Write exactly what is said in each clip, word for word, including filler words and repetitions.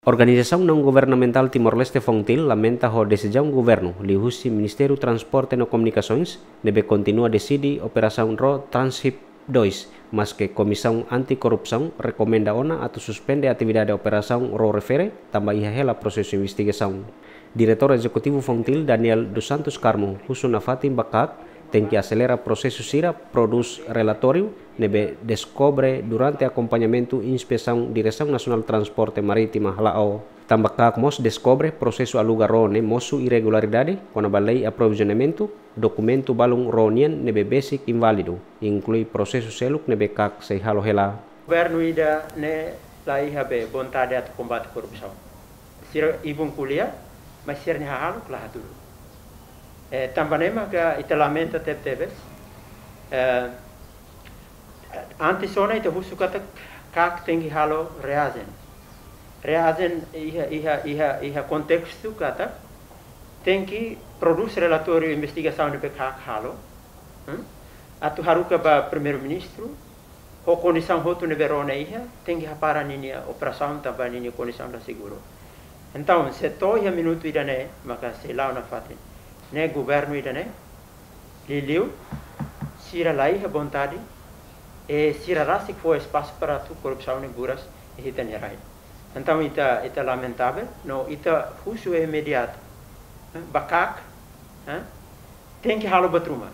Organizasaun naun-governamentál Timor-Leste, Fontil, lamenta ho desizaun governu liuhusi Ministériu Transporte no Komunikasoens ne'ebé kontinua deside operasaun Ro Transip dois, maske Komisaun Anti-Korrupsaun rekomenda ona atu suspende atividade operasaun Ro refere tanba iha hela prosesu investigasaun. Diretór Ezekutivu Fontil, Daniel dos Santos Carmo, husu nafatin ba KAK tenke aselera prosesu sira prodús relatóriu ne'ebé deskobre durante akompañamentu inspesaun Diresaun Nasionál Transporte Marítima hala'o. Tanba KAK mós deskobre prosesu aluga Ro ne'e mosu irregularidade kona-ba lei aprovizionamentu, dokumentu balun Ro nian ne'ebé besik inválidu, inklui prosesu seluk ne'ebé KAK sei halo hela. Governu ida-ne'e la iha be vontade atu kombate korrupsaun. Sira ibun ko'alia, mas sira-nia hahalok la hatudu. Eh, tanba ne'e maka ita lamenta tebetebes. Eh, antes ona ita husu katak KAK tenke halo reajen. Reajen iha, iha, iha, iha kontestu katak tenke prodús relatóriu investigasaun ne'ebé KAK halo. Hmm? Atu haruka ba Primeiru-Ministru, ho kondisaun hotu ne'ebé Ro ne'e iha, tenke hapara ninia operasaun tanba ninia kondisaun la seguru. Entaun, se to'o iha minutu ida-ne'e, maka sei la'o nafatin. Ne'e governu ida-ne'e, liuliu, sira la iha vontade, i sira rasik fó espasu para atu korrupsaun ne'e buras iha ita-nia rai. Entaun, ita, ita lamentavel, no ita husu imediatu, eh, ba KAK, eh, tenke halo buat ruma.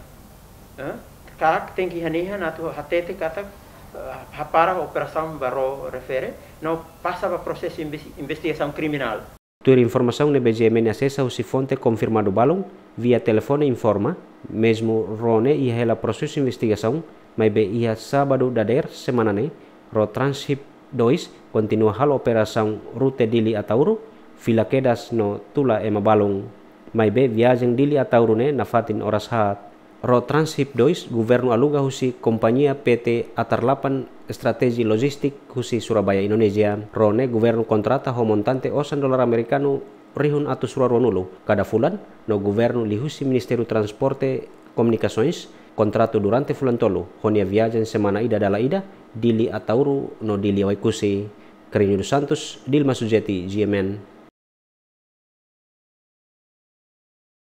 Eh? KAK tenke hanihan atu hatete katak, eh, hapara operasaun ba Ro refere, no pasa ba prosesu inves-, investigasaun kriminál. Tuir informasaun ne'ebé GMN asesa husi fonte konfirmadu balun, via telefone informa, mezmu Ro ne'e iha hela prosesu investigasaun, maibé iha sábadu dadeer semana ne'e, Ro Transip dois kontinua halo operasaun rute Dili Ataúro, fila kedas no tula ema balun. Maibé viajen Dili Ataúro ne'e nafatin oras haat. Ro Transip dois, governu aluga husi kompañia P T Atarlapan Strategy Logistic husi Surabaya, Indonézia. Ro ne'e governu kontrata ho montante osan dolar amerikanu rihun atus rua ruanulu kada fulan, no governu liuhusi Ministériu Transporte Komunikasoens kontratu durante fulan tolu, ho nia viajen semana ida dala ida, Dili Ataúro no Dili Oekusi. Carreño dos Santos, Dilma Sujeti, GMN.